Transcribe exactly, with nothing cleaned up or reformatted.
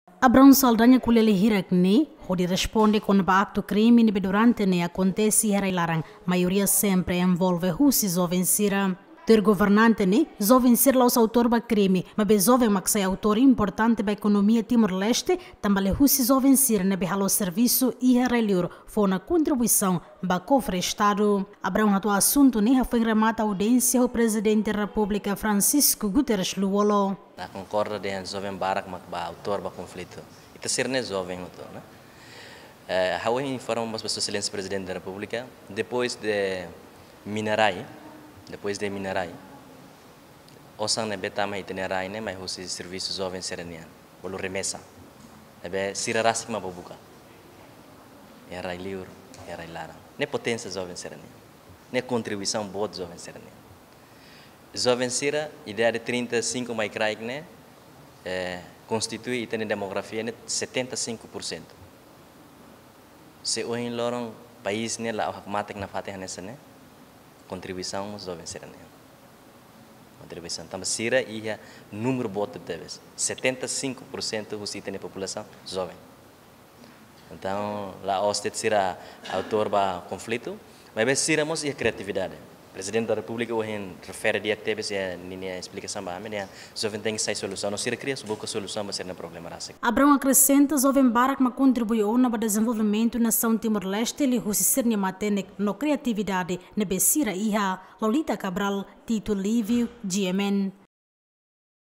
Abraão Saldanha ko'alia hirak ne'e hodi responde kona-ba aktu krime ne'ebé durante ne'e akontese iha rai-laran, maioria sempre envolve husi joven sira. Tuir governante ne'e, joven sira la'ós autór ba krime, maibé joven mak sai autór importante ba ekonomia Timor-Leste, tanba liuhusi joven sira ne'ebé halo servisu iha rai-liur fó ona kontribuisaun ba kofre Estadu. Abraão hato'o asuntu ne'e hafoin remata audiénsia ho Prezidente Repúblika Francisco Guterres Lú-Olo. Nia konkorda dehan joven barak mak ba autór ba konflitu. Ita sira-ne'e joven hotu, ne'e? Eh, ha'u informa mós ba Sua Exelénsia Prezidente da Repúblika, depois de mina-rai, depois de mina-rai, osan ne'ebé tama iha ita-nia rai ne'e mai husi servisu joven sira-nian, bolu remesa. Ne'ebé sira rasik mak bá buka iha rai-liur, iha rai-laran. Ne'e poténsia joven sira-nian. Ne'e kontribuisaun boot joven sira-nian. Joven sira, idade trinta e cinco mai kraik ne'e, eh, konstitui ita-nia demografia ne'e setenta e cinco por cento. Se ohin loron país ne'e la'o hakmatek nafatin hanesan ne'e, kontribuisaun mós joven sira-nian. Kontribuisaun. Tanba sira iha númeru boot tebes. Setenta e cinco por cento husi ita-nia populasaun joven. Entaun, la'ós de'it sira autór ba konflitu, maibé sira mós iha kriatividade. Prezidente da Repúblika ohin refere di'ak tebes iha ninia esplikasaun ba ami, ne'e joven tenke sai solusaun, no sira kria buka solusaun ba sira-nia problema rasik. Abraão akresenta, joven barak mak kontribui ona ba dezenvolvimentu nasaun Timor-Leste liuhusi sira-nia matenek no kriatividade ne'ebé sira iha. Lolita Cabral, Tito Livio, G M N.